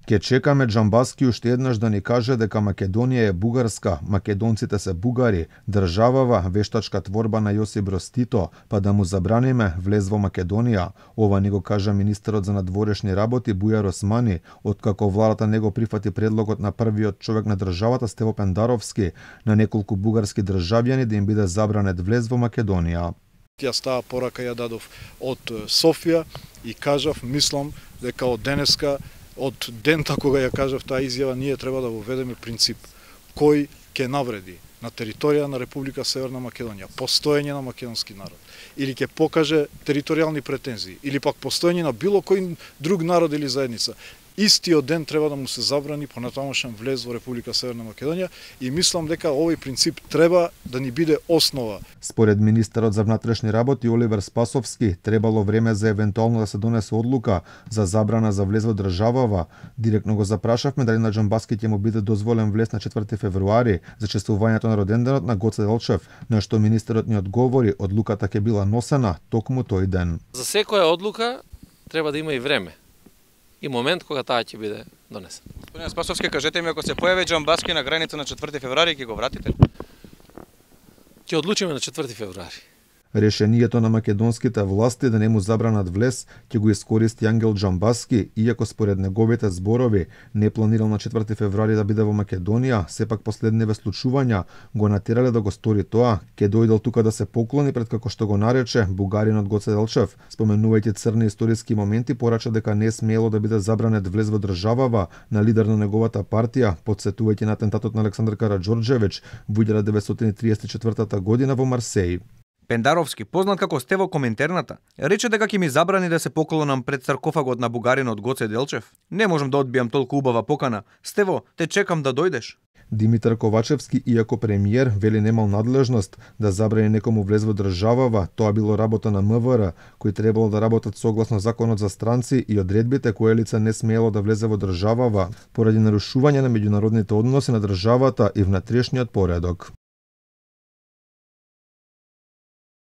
Ке чекаме Џамбаски уште еднаш да ни каже дека Македонија е бугарска, македонците се бугари, државава вештачка творба на Јосип Броз Тито, па да му забраниме влез во Македонија. Ова ни го кажа министерот за надворешни работи Бујар Османи, откако владата не го прифати предлогот на првиот човек на државата Стево Пендаровски на неколку бугарски државјани да им биде забранет влез во Македонија. Јас таа порака ја дадов од Софија и кажав, мислам дека од денеска, од дента кога ја кажав таа изјава, ние треба да воведеме принцип кој ќе навреди на територија на Република Северна Македонија постоење на македонски народ или ќе покаже територијални претензии или пак постоење на било кој друг народ или заедница, истиот ден треба да му се забрани понатамошен влез во Република Северна Македонија и мислам дека овој принцип треба да ни биде основа. Според министерот за внатрешни работи Оливер Спасовски, требало време за евентуално да се донесе одлука за забрана за влез во државава. Директно го запрашавме дали на Џамбаски ќе му биде дозволен влез на 4 февруари за чествувањето на роденденот на Гоце Делчев, на што министерот ни одговори одлуката ќе била носена токму тој ден. За секоја одлука треба да има и време и момент кога таа ќе биде донесена. Господин Спасовски, кажете ми, ако се појави Џамбаски на граница на 4 февруари, ќе го вратите? Ќе одлучиме на 4 февруари. Решението на македонските власти да не му забранат влез ќе го искористи Ангел Џамбаски, иако според неговите зборови не планирал на 4 февруари да биде во Македонија, сепак последниве случувања го натерале да го стори тоа. Ке дојдел тука да се поклони пред, како што го нарече, бугаринот Гоце Делчев. Споменувајќи црни историски моменти, порача дека не смело да биде забранет влез во државава на лидер на неговата партија, потсетувајќи на атентатот на Александар Караџорџевиќ во 1934 година во Марсеј. Пендаровски, познат како Стево Коминтерната, рече дека ќе ми забрани да се поклонам пред саркофагот на бугаринот Гоце Делчев. Не можам да одбијам толку убава покана. Стево, те чекам да дојдеш. Димитар Ковачевски, иако премиер, вели немал надлежност да забрани некому влез во државава, тоа било работа на МВР, кои требало да работат согласно законот за странци и одредбите кое лице не смело да влезе во државава, поради нарушување на меѓународните односи на државата и внатрешниот поредок.